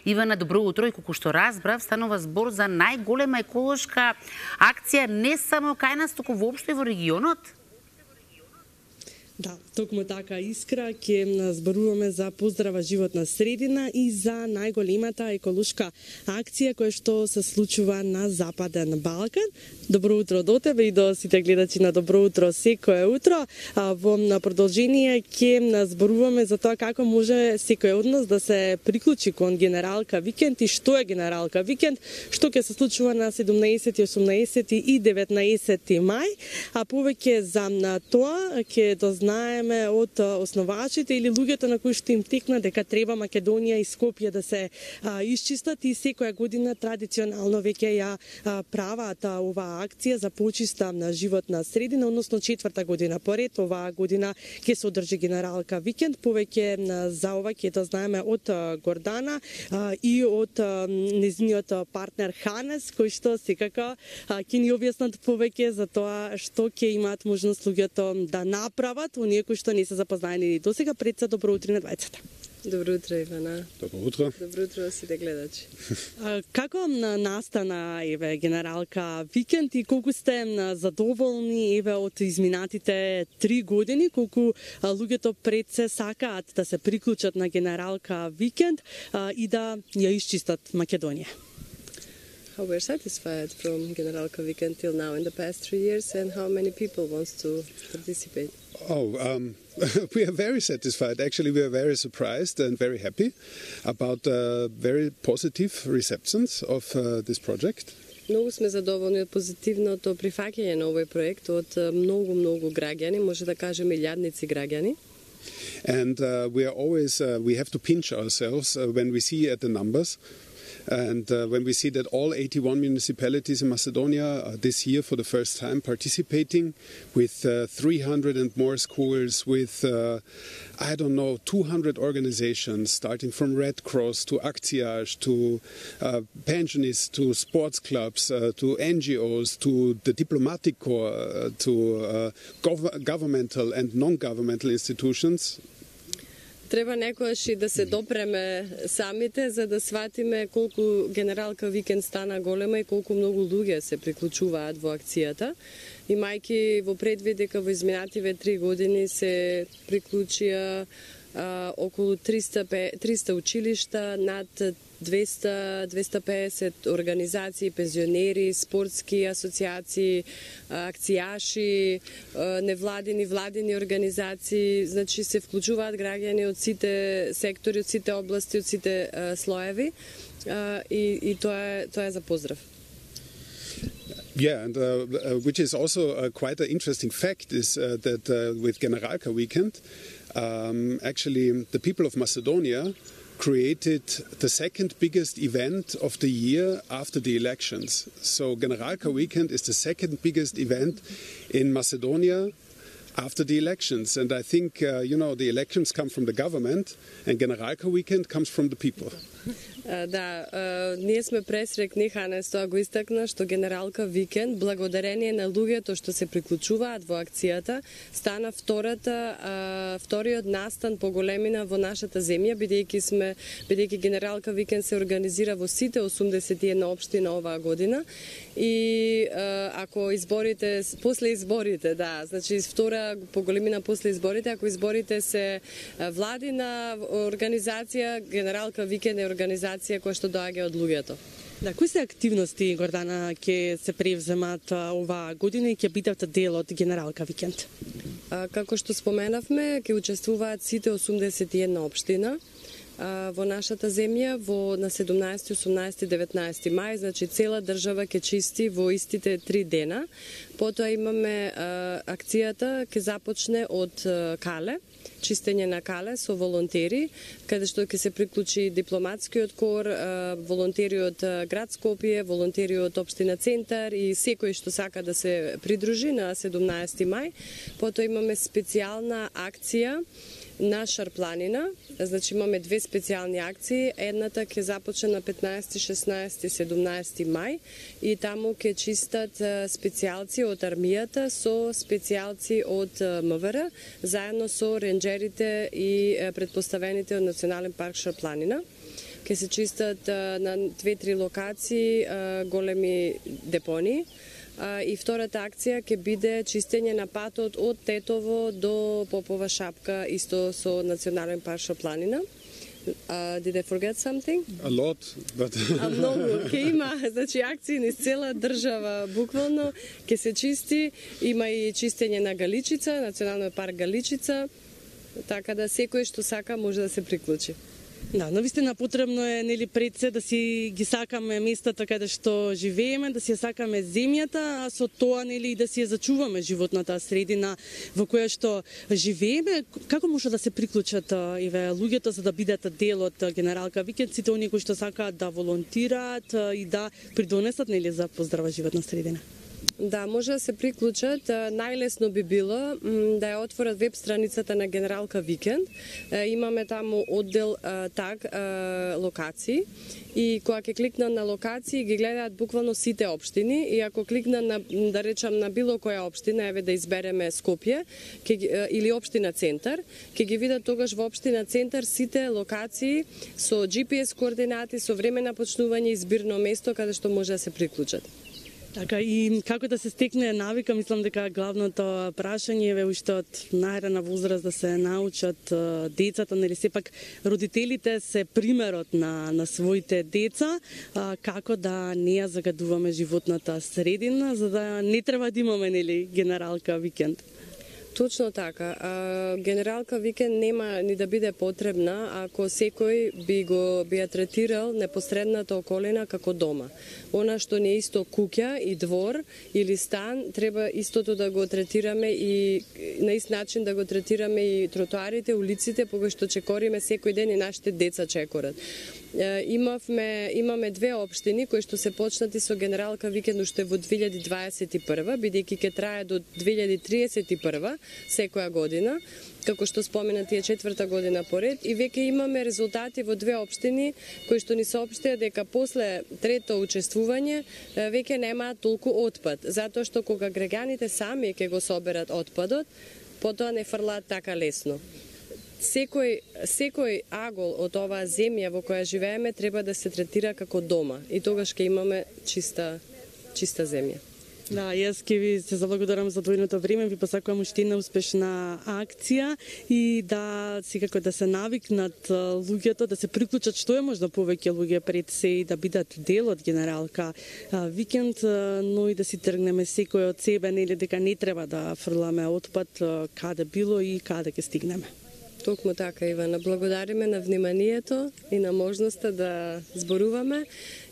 Ивана, добро утро, и колку што разбрав, станува збор за најголема еколошка акција не само кај нас, туку воопшто и во регионот. Да, токму така, Искра, ќе зборуваме за поздрава животна средина и за најголемата еколошка акција која што се случува на Западен Балкан. Добро утро до тебе и до сите гледачи на Добро утро секое утро. Во продолжение ќе зборуваме за тоа како може секој од нас да се приклучи кон Генералка викенд и што е Генералка викенд, што ќе се случува на 17, 18 и 19 мај, а повеќе за тоа ќе дознаеме од основачите или луѓето на кои што им текна дека треба Македонија и Скопје да се исчистат, и секоја година традиционално веќе ја прават оваа акција за почиста на животна средина, односно 4-та година поред. Оваа година ќе се одржи Генералка викенд. Повеќе за ова ќе дознаеме од Гордана и од незиниот партнер Ханес, кој што секако ќе ни објаснат повеќе за тоа што ќе имаат можност луѓето да направат, оние кои што не се запознаени до сега. Пред се добро утро на двајцата. Добро утро, Ивана. Добро утро. Добро утро сите гледачи. Како настана Генералка викенд и колку сте задоволни од изминатите 3 години, колку луѓето пред се сакаат да се приклучат на Генералка викенд и да ја исчистат Македонија? How we're satisfied from Generalka weekend till now in the past 3 years, and how many people wants to participate? We are very satisfied. Actually, we are very surprised and very happy about very positive receptions of this project. Многу сме задоволни од позитивното прифаќање на овој проект од многу граѓани, може да кажеме илјадници граѓани. And we are always we have to pinch ourselves when we see at the numbers. And when we see that all 81 municipalities in Macedonia are this year for the first time participating with 300 and more schools, with, 200 organizations, starting from Red Cross to Akcijaž, to pensionists, to sports clubs, to NGOs, to the diplomatic corps, to governmental and non-governmental institutions. Треба некојаш и да се допреме самите, за да сватиме колку Генералка викенд стана голема и колку многу луѓе се приклучуваат во акцијата. Имајќи во предвид дека во изминативе 3 години се приклучија околу 300 училишта, над 200-250 организации, пензионери, спортски асоциации, акцијаши, невладини, владини организации, значи се вклучуваат граѓани од сите сектори, од сите области, од сите слоеви, и тоа е за поздрав. Yeah, and which is also quite an interesting fact is that with Generalka weekend, actually the people of Macedonia created the second biggest event of the year after the elections. So Generalka weekend is the second biggest event in Macedonia after the elections. And I think, the elections come from the government and Generalka weekend comes from the people. Да, ние сме пресрекни, Ханес тоа го истакна, што Генералка викенд, благодарение на луѓето што се приклучуваат во акцијата, стана вториот настан по големина во нашата земја, бидејќи Генералка викенд се организира во сите 81 општина оваа година. И ако после изборите, да, значи втора по големина после изборите, ако изборите се владина организација, Генералка викенд е организација која што доаѓа од луѓето. Да, кои се активности, Гордана, ќе се превземат оваа година и ќе бидат дел од Генералка викенд? Како што споменавме, ќе учествуваат сите 81 општина во нашата земја на 17, 18 и 19 мај, значи цела држава ќе чисти во истите 3 дена. Потоа имаме акцијата ќе започне од Кале, чистење на Кале со волонтери, каде што ќе се приклучи дипломатскиот кор, волонтери од град Скопје, волонтери од општина Центар и секој што сака да се придружи на 17 мај. Потоа имаме специјална акција на Шарпланина, значи имаме две специјални акции. Едната ќе започне на 15, 16 и 17 мај и таму ќе чистат специјалци од армијата со специјалци од МВР, заедно со ренџерите и предпоставените од Национален парк Шарпланина. ќе се чистат на 2-3 локации големи депонии. И втората акција ќе биде чистење на патот од Тетово до Попова шапка, исто со Национален парк Шопланина. Did I forget something? A lot, but... Многу. Ке има, значи, акции низ цела држава, буквално, ке се чисти. Има и чистење на Галичица, Националниот парк Галичица, така да секој што сака може да се приклучи. Да, навистина потребно е нели пред се да си ги сакаме местата каде што живееме, да си ја сакаме земјата, а со тоа нели и да си ја зачуваме животната средина во која што живееме. Како може да се приклучат еве луѓето за да бидат дел од Генералка Викенд, сите оние кои што сакаат да волонтираат и да придонесат нели за поздрава животна средина? Да, може да се приклучат. Најлесно би било да ја отворат веб страницата на Генералка Викенд. Имаме таму оддел таг локации и кога ќе кликнат на локации ги гледаат буквално сите општини и ако кликнат на, да речам, на било која општина, еве да избереме Скопје или општина Центар, ќе ги видат тогаш во општина Центар сите локации со GPS координати, со време на почнување и збирно место каде што може да се приклучат. Така, и како да се стекне навика, мислам дека главното прашање е уште од најрана возраст да се научат децата, нели сепак родителите се примерот на своите деца, како да не ја загадуваме животната средина, за да не треба да имаме нели Генералка Викенд. Точно така. Генералка Викенд нема ни да биде потребна ако секој би ја третирал непосредната околина како дома. Она што не е исто куќа и двор или стан, треба истото да го третираме и на ист начин да го третираме и тротоарите, улиците, кога што чекориме секој ден и нашите деца чекорат. Имаме две општини кои што се почнати со Генералка Викенд уште во 2021, бидејќи ќе трае до 2031 секоја година, како што споменати е 4-та година поред, и веќе имаме резултати во две општини кои што ни соопштија дека после трето учествување веќе немаат толку отпад, затоа што кога граѓаните сами ќе го соберат отпадот, потоа не фрлаат така лесно. Секој агол од оваа земја во која живееме треба да се третира како дома и тогаш ќе имаме чиста земја. Да, јас ќе ви се заблагодарам за двојното време, ви посакувам уште една успешна акција и да секако да се навикнат луѓето, да се приклучат што е можда повеќе луѓе пред се и да бидат дел од Генералка Викенд, но и да си тргнеме секој од себе, нели дека не треба да фрламе отпад каде било и каде ќе стигнеме. Токму така, Ивана. Благодариме на вниманието и на можноста да зборуваме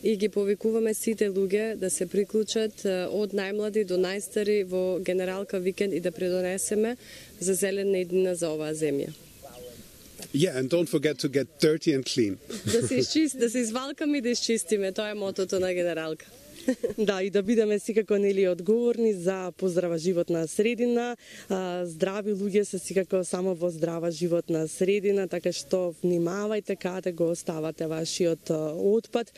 и ги повикуваме сите луѓе да се приклучат од најмлади до најстари во Генералка Викенд и да придонесеме за зелена иднина за оваа земја. Yeah, and don't forget to get dirty and clean. Да се извалкаме и да изчистиме, тоа е мотото на Генералка. Да, и да бидеме секако нели одговорни за поздрава животна средина. Здрави луѓе се секако само во здрава животна средина, така што внимавајте каде го оставате вашиот отпад.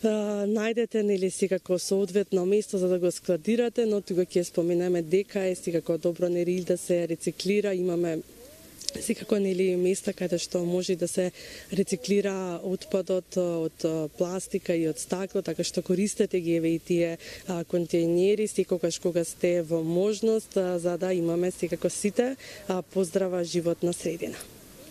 Најдете нели секако соодветно место за да го складирате, но тука ќе споменеме дека е секако добро нели да се рециклира, имаме секако нели места каде што може да се рециклира отпадот од пластика и од стакло, така што користете ги еве и тие контејнери секогаш кога сте во можност, за да имаме секако сите поздрава животна средина.